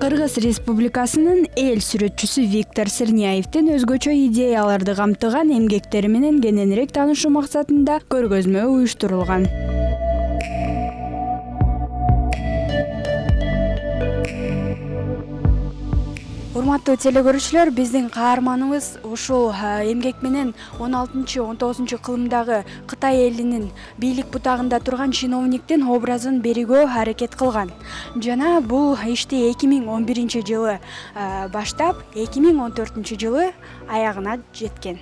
Кыргыз Республикасынын эл сүрөтчүсү Виктор Сырняевдин өзгөчө идеяларды камтыган эмгектери менен кененирээк таанышуу максатында көргөзмө уюштурулган. Урматтуу телекөрүүчүлөр, биздин каарманыбыз ушул эмгек менен 16-19 кылымдагы Кытай элинин бийлик бутагында турган чиновниктин образын берүүгө аракет кылган. Жана бул ишти 2011-жылы баштап 2014-жылы аягына жеткен.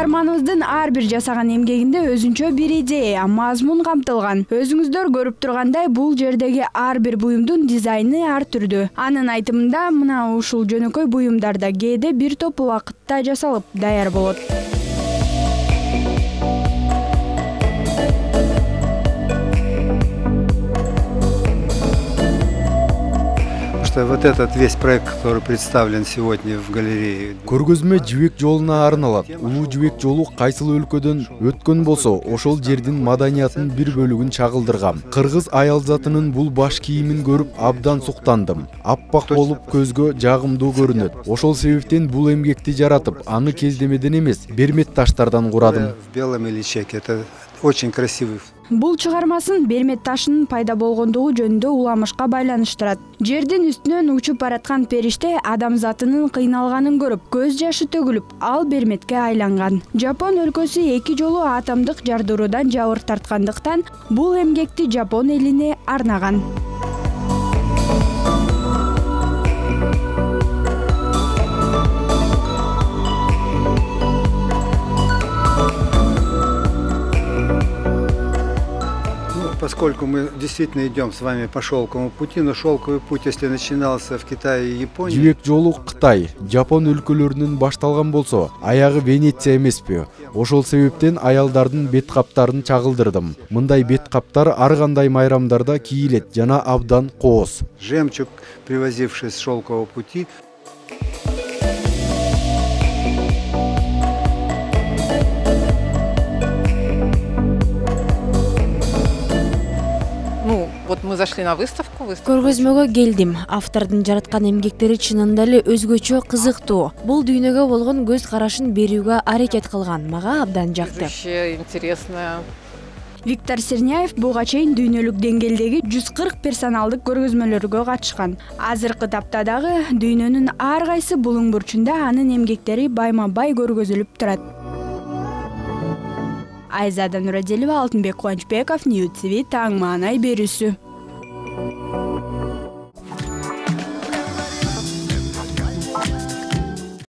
Каарманыбыздын ар бир жасаган эмгегинде өзүнчө бир идея, мазмун камтылган. Өзүңүздөр көрүп тургандай, бул жердеги ар бир буюмдун дизайны ар түрдүү. Анын айтымында, мына ушул жөнөкөй буюмдарда кээде бир топ убакытта жасалып даяр болот. Вот этот весь проект, который представлен сегодня в галерее. Көргөзмө жибек жолуна арналат. Улуу жибек жолу кайсыл өлкөдөн өткөн болсо, ошол жердин маданиятынын бир бөлүгүн чагылдыргам. Кыргыз аял затынын бул баш кийимин көрүп абдан суктандым. Аппак болуп көзгө жагымдуу көрүнөт. Ошол себептен бул эмгекти жаратып, аны кездемеден эмес, бермет таштардан курадым. В белом иличеке. Это очень красивый. Бул чыгармасын бермет ташынын пайда болгондугу жөнүндө уламышка байланыштырат. Жердин үстүнөн учуп бараткан периште адамзатынын кыйналганын көрүп, көз жашы төгүлүп, ал берметке айланган. Жапон өлкөсү 2 жолу атомдук жардыруудан жабыр тарткандыктан бул эмгекти Жапон элине арнаган. Поскольку мы действительно идем с вами по шелковому пути, но шелковый путь, если начинался в Китае и Японии... Жибек жолу Кытай, Жапон өлкөлөрүнөн башталган болсо, аягы Венеция эмеспи? Ошол себептен аялдардын бет каптарын чагылдырдым. Мындай бет каптар ар кандай майрамдарда кийилет жана абдан кооз. Жемчуг, привозивший с шелкового пути. Вот мы зашли на выставку. Көргөзмөгө келдим. Автордун жараткан эмгектери чынында эле өзгөчө кызыктуу. Бул дүйнөгө болгон көз карашын берүүгө аракет кылган. Мага абдан жакты. Интересно. Виктор Сырняев буга чейин дүйнөлүк деңгээлдеги 140 персоналдык көргөзмөлөргө катышкан. Азыркы тапта дагы дүйнөнүн ар кайсы булуң бурчунда анын эмгектери байма-бай көргөзүлүп турат. Айзада Нурадилова, Алтынбек Кубанычбеков, Ньюс ТВ, таң маанай берүүсү.